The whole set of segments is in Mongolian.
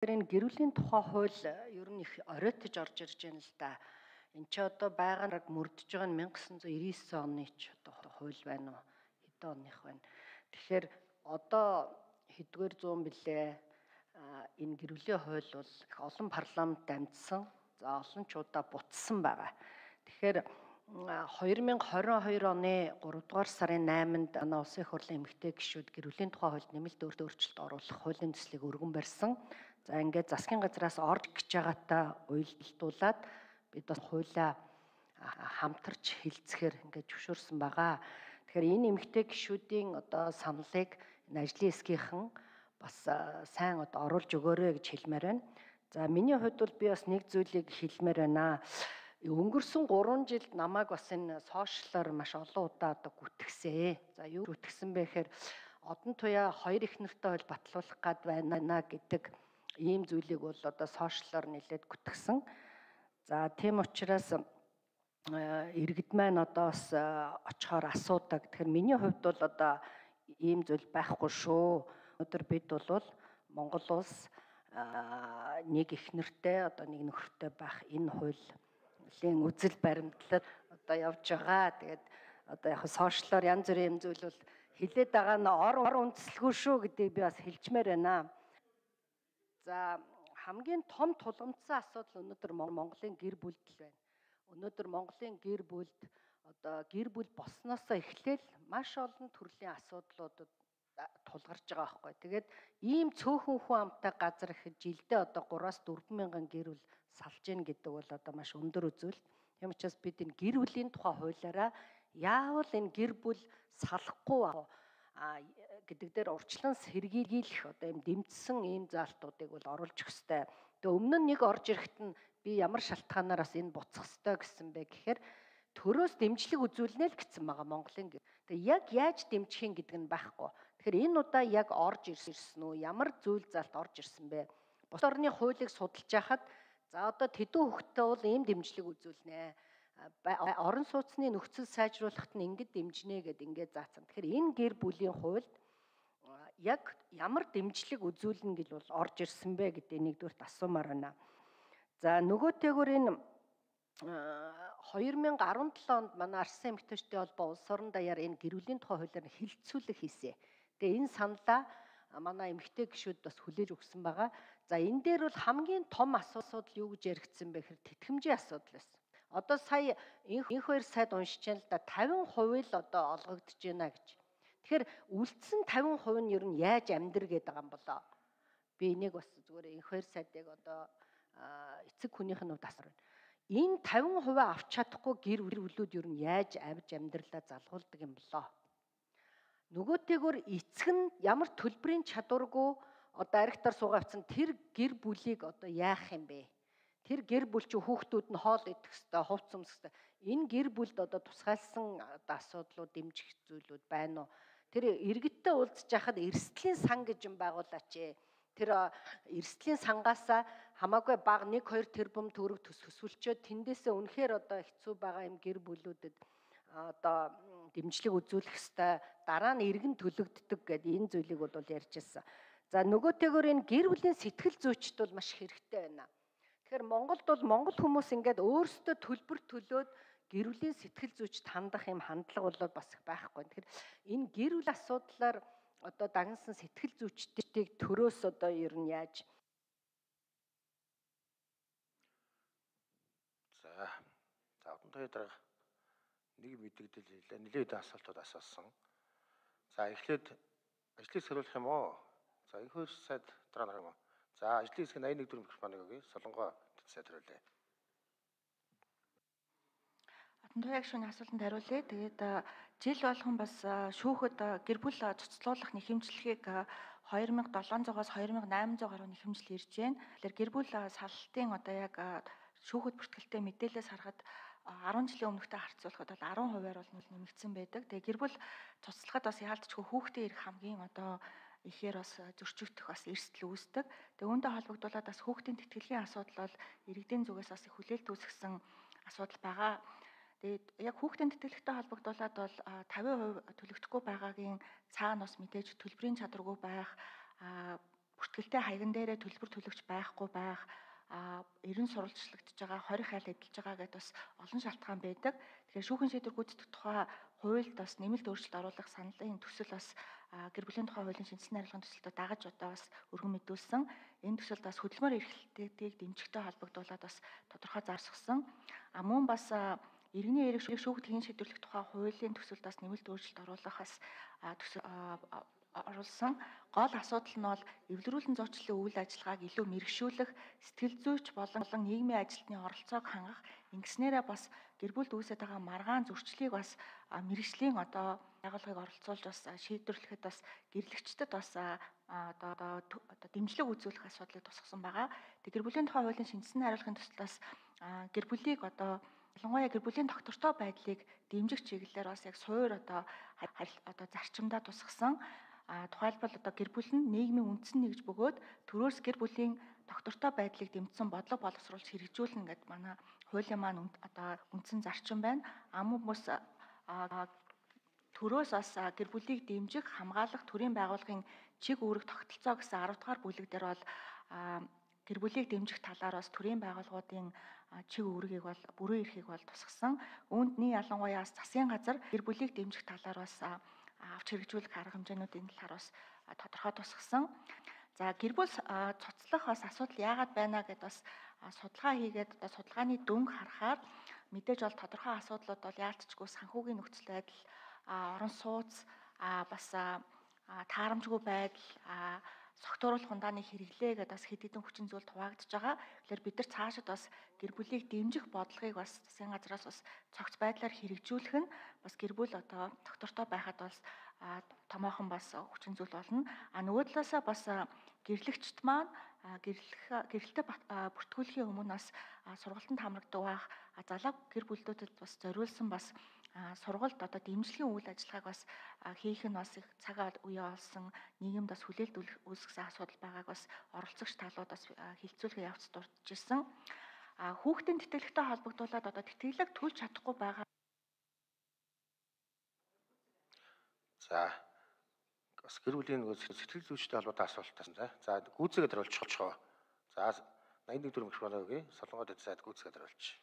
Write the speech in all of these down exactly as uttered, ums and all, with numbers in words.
Энэ гэрүүлийн тухай хууль ер нь их оройтож орж ирж байна л да. Энд чи одоо байгааг мөрдөж байгаа нь мянга gysan зуун девяносто девять оны ч одоо хууль байна уу? Хэдэн оных байна. Тэгэхээр одоо хэдгээр зуун билээ энэ гэрүүлийн хууль бол их олон парламент дамжсан. За олон ч удаа бутсан байгаа. Тэгэхээр хоёр мянга хорин хоёр оны гурав дугаар сарын найманд манай улсын их хурлын эмэгтэй гишүүд гэрүүлийн тухай хуульд нэмэлт өөрчлөлт оруулах хуулийн төслийг өргөн барьсан. За ингээд засгийн газраас орж гэж байгаатай уялдуулаад бид бас хуулиа хамтарч хилцэхээр ингээд зөвшөөрсөн байгаа. Тэгэхээр энэ эмэгтэй гишүүдийн одоо саналыг энэ ажлын хэсгийнхэн бас сайн одоо оруулж өгөөрэй гэж хэлмээр байна. За миний хувьд бол би бас нэг зүйлийг хэлмээр байна. Өнгөрсөн гурван жилд намайг бас энэ сошиалаар маш олон удаа одоо гүтгсээ. За юу гүтгсэн бэ гэхээр одон туяа хоёр их нартай хөл батлуулах гад байна гэдэг ийм зүйлийг бол одоо сошиалаар нэлээд гүтгсэн. За тийм учраас иргэд маань одоо бас очихоор асуудаг. Тэгэхээр миний хувьд бол одоо ийм зүйл байхгүй шүү. Өнөөдөр бид бол Монгол улс нэг их нартай одоо нэг нөхөртэй байх энэ хуулийн үзэл баримтлал одоо явж байгаа. Тэгээд одоо яг сошиалаар янз бүрийн юм зүйл бол хилээд байгаа нь ор ор үндэслэгүй шүү гэдгийг би бас хэлчмээр байна. За хамгийн том тулгымдсан асуудал өнөөдөр Монголын гэр бүлд л байна. Өнөөдөр Монголын гэр бүлд одоо гэр бүл болсноосоо эхлээл маш олон төрлийн асуудлуудад тулгарч байгаа байхгүй. Тэгээд ийм цөөхөн хүн амтай газар их жилдээ одоо гураас дөрвөн мянган гэр бүл салж ийн гэдэг бол одоо маш өндөр үзүүлэлт. Тийм учраас бид энэ гэр бүлийн тухай хуулиараа яавал энэ гэр бүл салахгүй гэдэг дээр урьдчилан сэргийлэх одоо юм дэмжсэн ийм заалтуудыг бол оруулж өгөх ёстой. Тэгээ өмнө нь нэг орж ирэхэд нь би ямар шалтгаанаар бас энэ буцах ёстой гэсэн бэ гэхээр төрөөс дэмжлэг үзүүлнэ л гэсэн байгаа Монголын. Тэгээ яг яаж дэмжих юм гэдэг нь байхгүй. Тэгэхээр энэ удаа яг орж ирсэн үү? Ямар зүйл заалт орж ирсэн бэ? Бус орны хуулийг судалж байхад за одоо тэдүү хөхтөө бол ийм дэмжлэг үзүүлнэ. Орон сууцны нөхцөл сайжруулахад нь ингэж дэмжнэ гэд ингээд заасан. Тэгэхээр энэ гэр бүлийн хуульд яг ямар дэмжлэг үзүүлнэ гэж бол орж ирсэн бэ гэдэг нэгдүгürt асуумаар байна. За нөгөөтэйгөр энэ хоёр мянга арван долоо онд манай Арслан эмэгтэйчдийн холбоо улс орон даяар энэ гэрүүлийн тухай хуулиар хилцүүлэг хийсэн. Тэгээ энэ саналаа манай эмэгтэй гишүүд бас хүлээж өгсөн байгаа. За энэ дээр бол хамгийн том асуудал юу гэж яригдсан бэ гэхээр тэтгэмжийн асуудал байсан. Одоо сая энх хоёр сайд уншиж байна л да тавин хувь л одоо олгогдож байна гэж. Тэгэхээр үлдсэн тавин хувь нь ер нь яаж амьдр гэдэг юм болоо. Би энийг бас зүгээр энх хоёр сайдыг одоо эцэг хүнийх нь тасар байна. Энэ тавин хувь авч чадахгүй гэр бүлүүд ер нь яаж авж амьдралаа залгуулдаг юм болоо. Нөгөөтэйгөр эцэг нь ямар төлбөрийн чадваргүй одоо аригтар суугаавцсан тэр гэр бүлийг одоо яах юм бэ? Тэр гэр бүл чи хүүхдүүд нь хоол идэх хэвээр, хувцс өмсөх хэвээр. Энэ гэр бүлд одоо тусгайлсан асуудлууд дэмжих зүйлүүд байна уу? Тэр иргэдтэй уулзж байхад эрсдлийн сан гэж юм байгуулаач ээ. Тэр эрсдлийн сангаасаа хамаагүй бага нэг хоёр тэрбум төгрөг төсвөлчөөд тэндээсээ үнэхээр одоо хэцүү байгаа юм гэр бүлүүдэд одоо дэмжлэг үзүүлэх хэвээр дараа нь иргэн төлөгддөг гэдэг энэ зүйлийг бол ярьжсэн. За нөгөөтэйгөр энэ гэр бүлийн сэтгэл зүйчд бол маш хэрэгтэй байна. Тэгэхээр Монголд бол монгол хүмүүс ингээд өөрсдөө төлбөр төлөөд гэр бүлийн сэтгэл зүйчд хандах юм хандлага бол бас байхгүй. Тэгэхээр энэ гэр бүл асуудлаар одоо дагнасан сэтгэл зүйчдийг төрөөс одоо ер нь яаж За за одон тоё дарга нэг мэдээлэл хэлээ. Нэлээд асуултууд асуусан. За эхлээд ажлыг сэрүүлэх юм уу? За энэ хоёр сайд дараа нар юм уу? За ажлын хэсэг аян нэг дөрөв микрофоныг өгье. Солонгоо сайд хариулъя. Одон тоёгийн шүүний асуултанд хариулъя. Тэгээд жил болгон бас шүүхэд гэр бүл цуцлуулах нэхэмжлэгийг хоёр мянга долоонзугаас хоёр мянга найман зуун гаруй нэхэмжил ирж байна. Тэгэхээр гэр бүл салтын одоо яг шүүхэд бүртгэлтэй мэдээлэлээс харахад арван жилийн өмнөхтэй харьцуулахад бол арван хувиар бол нэмэгдсэн байдаг. Тэгээ гэр бүл цуцлахад бас яалтчгүй хүүхдээ ирэх хамгийн одоо ихээр бас зөрчигдөх бас эрсдэл үүсдэг. Тэгээ үүнтэй холбогдуулаад бас хүүхдийн тэтгэлгийн асуудал бол иргэдийн зүгээс бас их хүлээлт үүсгэсэн асуудал байгаа. Тэгээд яг хүүхдийн тэтгэлэгтэй холбогдуулаад бол тавин хувь төлөгдөхгүй байгаагийн цаана бас мэдээж төлбөрийн чадваргүй байх бүртгэлтэй хаягн дээрээ төлбөр төлөгч байхгүй байх, а ерөн сурвалжлагдж байгаа, хорих хайл эдэлж байгаа гэдээ бас олон шалтгаан байдаг. Тэгэхээр шүүхийн шийдвэр гүйцэтгэх тухай хуульд бас нэмэлт өөрчлөлт оруулах саналын төсөл бас гэр бүлийн тухай хуулийн шинжилсэн харилцааны төсөлтөд дагаж одоо бас өргөн мэдүүлсэн. Энэ төсөлд бас хөдөлмөр эрхлэлтийг дэмжихтэй холбогдуулаад бас тодорхой зарсгсан. А мөн бас иргэний эрх шүүхтгэхийн шийдвэрлэх тухай хуулийн төсөлд бас нэмэлт өөрчлөлт оруулахаас төсөл оруулсан. Гол асуудал нь бол эвлэрүүлэн зуучлалын үйл ажиллагааг илүү мэрэгшүүлэх, сэтгэл зүйч болон нийгмийн ажилтны оролцоог хангах, ингэснээрээ бас гэр бүлд үүсэж байгаа маргаан зөрчлийг бас мэрэгжлийн одоо байгууллагыг оролцуулж бас шийдвэрлэхэд бас гэрлэгчдэд бас одоо одоо дэмжлэг үзүүлэх асуудлыг тусгасан байгаа. Тэг гэр бүлийн тухай хуулийн шинжилсэн хариулахын тулд бас гэр бүлийг одоо ялангуяа гэр бүлийн доктортой байдлыг дэмжих чиглэлээр бас яг суур одоо одоо зарчимдаа тусгасан. А тухайлбал одоо гэр бүл нь нийгмийн үндсэн нэгж бөгөөд төрөөс гэр бүлийн доктортой байдлыг дэмжсэн бодлого боловсруулж хэрэгжүүлнэ гэдэг манай хуулийн маань одоо үндсэн зарчим байна. Ам хүмүүс төрөөс бас гэр бүлийг дэмжих, хамгаалах төрийн байгууллагын чиг үүрэг тогтолцоо гэсэн арав дахь бүлэг дээр бол гэр бүлийг дэмжих талаар бас төрийн байгууллагуудын чиг үүргийг бол бүрэн эрхийг бол тусгасан. Үүндний ялангуяа засгийн газар гэр бүлийг дэмжих талаар бас авч хэрэгжүүлэх арга хэмжээнүүдийн талаар бас тодорхой тусгасан. За гэр бүл цуцлах бас асуудал яагаад байна гэдээ бас судалгаа хийгээд одоо судалгааны дүнг харахаар мэдээж бол тодорхой асуудлууд бол яалтчгүй санхүүгийн нөхцөл байдал, орон сууц, бас таарамжгүй байдал, согтууруулах ундааны хэрэглээ гэдээ бас хэд хэдэн хүчин зүйл хуваагдж байгаа. Тэгэхээр бид нар цаашид бас гэр бүлийг дэмжих бодлогыг бас засгийн газраас бас цогц байдлаар хэрэгжүүлэх нь бас гэр бүл одоо доктортой байхад бас томоохон бас хүчин зүйл болно. А нөгөө талаасаа бас гэрлэгчд маань гэрлэх гэрэлтэй бүртгүүлэхийн өмнө бас сургалтанд хамрагдаг байх залуу гэр бүлүүдэд бас зориулсан бас сургалт одоо дэмжлэгийн үйл ажиллагааг бас хийх нь бас их цаг үе олсон нийгэмд бас хүлээлт үүсгэсэн асуудал байгааг бас оролцогч талууд бас хилцүүлэх явц дурдж ирсэн. А хүүхдийн тэтгэлэгтэй холбогдуулаад одоо тэтгэлэг төлж чадахгүй байгаа. За бас гэр бүлийн сэтгэл зүйчтэй холбоотой асуулт тасан. За гүйцээгээд хариулчихоо. За найман нэг дөрөв микрофоногийн солонгоод эд сайд гүйцээгээд хариулчих.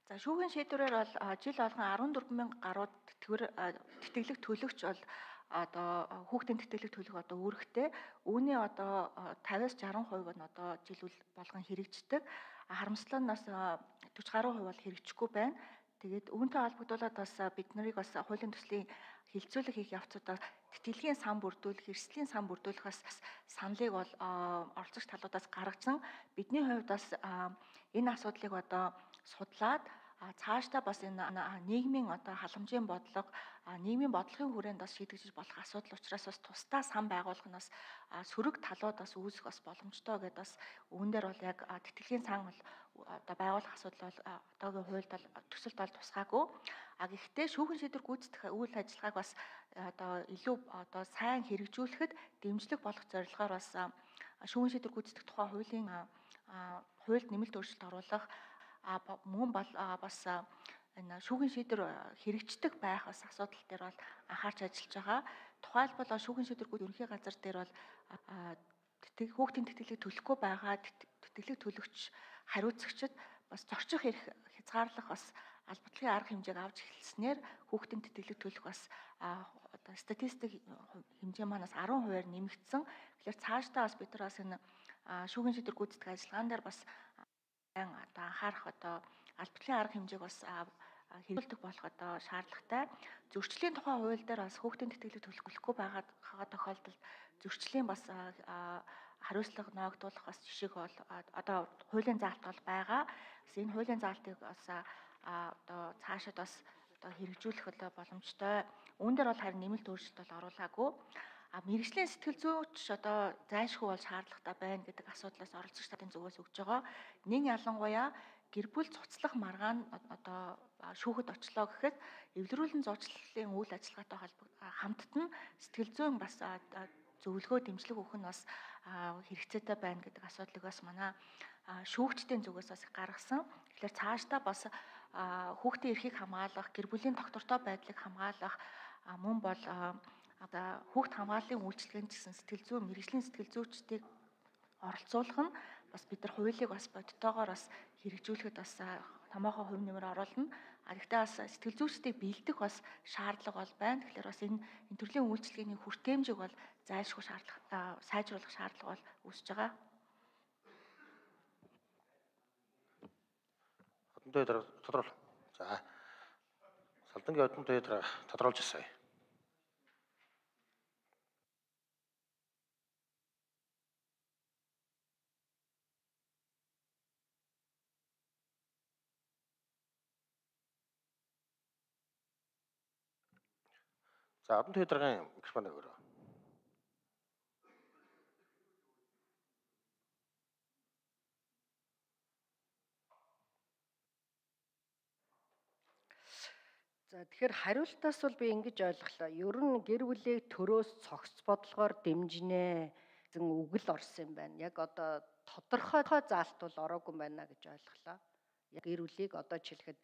За шүүхийн шийдвэрээр бол жил болгон арван дөрвөн мянга гаруй тэтгэлэг төлөгч бол одоо хүүхдийн тэтгэлэг төлөх одоо үүрэгтэй. Үүний одоо тавиас жарган хувь нь одоо жил болгон хэрэгждэг. Харамслал нь бас дөрвөн гаруй хувь бол хэрэгжихгүй байна. Тэгээд үүнтэй холбогдуулаад бас бид нарыг бас хуулийн төслийн хилцүүлэг хийх явцдаа тэтгэлгийн сан бүрдүүлэх, эрсдлийн сан бүрдүүлэх бас саналыг бол оролцогч талуудаас гаргажсан. Бидний хувьд бас энэ асуудлыг одоо судлаад цаашдаа бас энэ нийгмийн одоо халамжийн бодлого, нийгмийн бодлогын хүрээнд бас шийдэгдэж болох асуудал учраас бас тусдаа сан байгуулах нь бас сөрөг талууд бас үүсэх бас боломжтой гэдээ бас үүн дээр бол яг тэтгэлгийн сан бол одоо байгуулах асуудал бол одоогийн хуульд бол төсөлд бол тусгаагүй. А гэхдээ шүүхийн шийдвэр гүйцэтгэх үйл ажиллагааг бас одоо илүү одоо сайн хэрэгжүүлэхэд дэмжлэг болох зорилгоор бас шүүхийн шийдвэр гүйцэтгэх тухай хуулийн хуульд нэмэлт өөрчлөлт оруулах мөн бол бас энэ шүүхийн шийдвэр хэрэгждэг байх бас асуудал дээр бол анхаарч ажиллаж байгаа. Тухайлбал шүүхийн шийдвэрүүд ерөнхий газар дээр бол хүүхдийн тэтгэлэг төлөхгүй байгаа тэтгэлэг төлөгч хариуцагчид бас зорчих эрх хязгаарлах бас албатлогын арга хэмжээг авч эхэлснээр хүүхдийн тэтгэлэг төлөх бас одоо статистик хэмжээ манаас арван хувиар нэмэгдсэн. Тэгэхээр цаашдаа бас бид нар бас энэ шүүхийн шийдвэр гүйцэтгэх ажиллагаан дээр бас одоо анхаарах одоо албатлогын арга хэмжээг бас хэрэгжүүлдэг болох одоо шаардлагатай. Зөрчлийн тухай хууль дээр бас хүүхдийн тэтгэлэг төлөхгүй байгаад тохиолдолд зөрчлийн бас хариуцлага ноогдуулах бас жишээг бол одоо хуулийн заалт бол байгаа. Энэ хуулийн заалтыг бас одоо цаашид бас одоо хэрэгжүүлэх боломжтой. Үүн дээр бол харин нэмэлт өөрчлөлт бол оруулаагүй. А мэрэгжлийн сэтгэл зүйч одоо зайлшгүй бол шаардлагатай байна гэдэг асуудлаас оролцогч тарын зүгээс өгж байгаа. Нэг ялангуяа гэр бүл цуцлах маргаан одоо шүүхэд очлоо гэхэд эвлэрүүлэн зуучлалын үйл ажиллагаатай холбоо хамтд нь сэтгэл зүйн бас зөвлөгөө дэмжлэг өгөх нь бас хэрэгцээтэй байна гэдэг асуудлыг бас манай шүүгчдийн зүгээс бас гаргасан. Тэгэхээр цаашдаа бас хүүхдийн эрхийг хамгаалах, гэр бүлийн доктортой байдлыг хамгаалах мөн бол Одоо хүүхд хамгааллын үйлчилгээнд гэсэн сэтгэл зүй, мэрэгжлийн сэтгэл зүйчдийг оролцуулах нь бас бид нар хуулийг бас бодтойгоор бас хэрэгжүүлэхэд бас томоохон хувь нэмэр оруулна. А гэхдээ бас сэтгэл зүйчдийг бэлдэх бас шаардлага бол байна. Тэгэхээр бас энэ энэ төрлийн үйлчилгээний хүртээмжийг бол зайлшгүй шаардлага сайжруулах шаардлага бол үүсэж байгаа. Одон төвийн дарга тодорхойл. За. Салдангийн одон төвийн дарга тодорхойлж асууя. За, одон төвийн даргын микрофон өгөөрэй. За тэгэхээр хариултаас бол би ингэж ойлголоо. Ер нь гэр бүлийг төрөөс цогц бодлогоор дэмжинэ гэсэн үгэл орсон юм байна. Яг одоо тодорхой заалт бол ороогүй байна гэж ойлголоо. Яг гэр бүлийг одоо жишээлхэд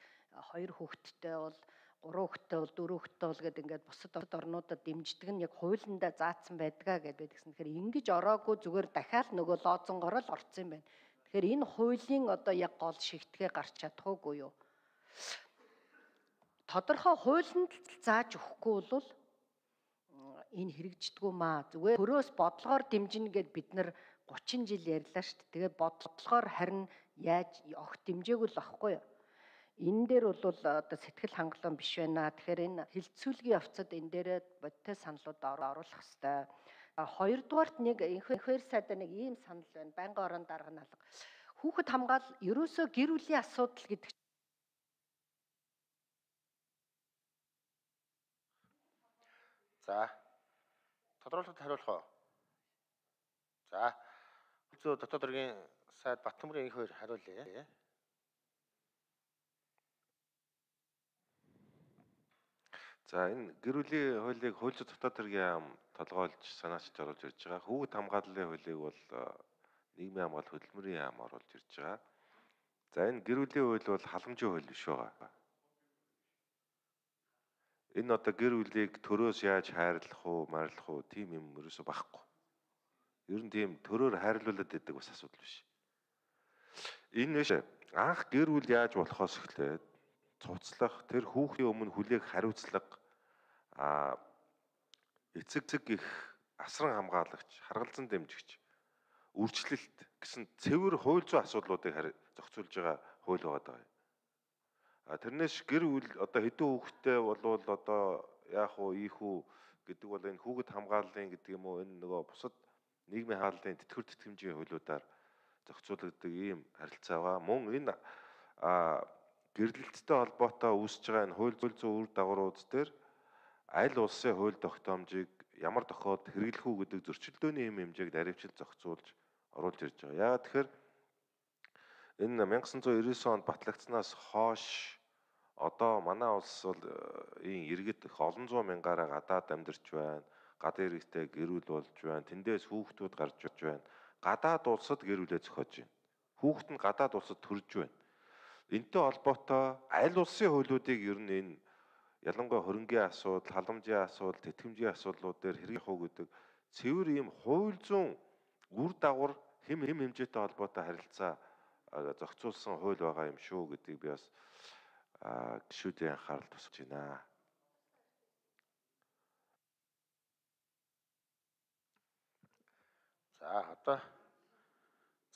хоёр хүүхэдтэй бол гурван хүүхэдтэй бол дөрвөн хүүхэдтэй бол гэдэг ингээд бусад орнуудад дэмждэг нь яг хуулиндаа заасан байдгаа гэдэг байдаг гэсэн. Тэгэхээр ингэж ороогүй зүгээр дахиад нөгөө лоозонгоор л орсон юм байна. Тэгэхээр энэ хуулийн одоо яг гол шигтгээ гарч чадахгүй юу? Тодорхой хуулинд зааж өгөхгүй бол энэ хэрэгждэггүй маа. Зүгээр төрөөс бодлогоор дэмжинэ гэд бид нар гучин жил ярьлаа шүү дээ. Тэгээд бодлогоор харин яаж огт дэмжээгүй л байхгүй юу? Энэ дээр бол одоо сэтгэл хангалуун биш байна. Тэгэхээр энэ хилцүүлгийн явцад энэ дээрээ бодтой саналууд оруулах хэрэгтэй. Хоёрдугаарт нэг энхээр сайдаа нэг ийм санал байна. Байнгын орон дарга нь алга. Хүүхэд хамгаал ерөөсөө гэр бүлийн асуудал гэдэг. За. Тодорхойлолтод хариулах уу? За. Зөв дотоод хэргийн сайд Баттамрын энхээр хариулъя. За энэ гэр бүлийн хуулийг хууль зүйн дотоод хэргийн яам толгойлж санаачд оруулж ирж байгаа. Хүүхэд хамгааллын хуулийг бол нийгмийн хамгаалал хөдөлмөрийн яам оруулж ирж байгаа. За энэ гэр бүлийн хууль бол халамжийн хууль биш байгаа. Энэ одоо гэр бүлийг төрөөс яаж хайрлах уу, марлах уу тийм юм ерөөсөй байхгүй. Ер нь тийм төрөөр хайрлуулад байдаг бас асуудал биш. Энэ биш анх гэр бүл яаж болохоос эхлээд цуцлах, тэр хүүхдийн өмнө хүлээх хариуцлага а эцэг зэг их асран хамгаалагч, харгалзан дэмжигч, үржлэлт гэсэн цэвэр хууль зүйн асуудлуудыг зохицуулж байгаа хууль байгаа. А тэрнээс гэр бүл одоо хэдэн хүүхэдтэй болвол одоо яах уу, ийх үү гэдэг бол энэ хүүхэд хамгааллын гэдэг юм уу энэ нөгөө бусад нийгмийн хааллын тэтгэвэр тэтгэмжийн хуулиудаар зохицуулагддаг ийм харилцаа байгаа. Мөн энэ а гэрлэлттэй холбоотой үүсэж байгаа энэ хууль зүйн үр дагаврууд дээр аль улсын хууль тогтоомжийг ямар тохиолдолд хэрэглэх үү гэдэг зөрчилдөөний хэм хэмжээг наривчлж зохицуулж оруулж ирж байгаа. Яагаад тэгэхээр энэ мянга санаа зуун девятнадцать онд батлагдсанаас хойш одоо манай улс бол ийм иргэд их олон зуун мянгаараа гадаад амьдарч байна. Гадаад иргэдтэй гэр бүл болж байна. Тэндээс хүүхдүүд гарч ирж байна. Гадаад улсад гэр бүлээ зохиож байна. Хүүхэд нь гадаад улсад төрж байна. Энтэй холбоотой аль улсын хуулиудыг ер нь энэ ялангуяа хөрөнгийн асуудал, халамжийн асуудал, тэтгэмжийн асуудлууд дээр хэрэгжих уу гэдэг цэвэр ийм хууль зүйн үр дагавар хэм хэм хэмжээтэй холбоотой харилцаа зохицуулсан хууль байгаа юм шүү гэдгийг би бас гишүүдийн анхаарал тусгаж байна. За одоо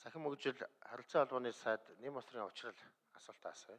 цахим мөгжил харилцаа холбооны сайд Нэм усрын учрал асуултаа асууя.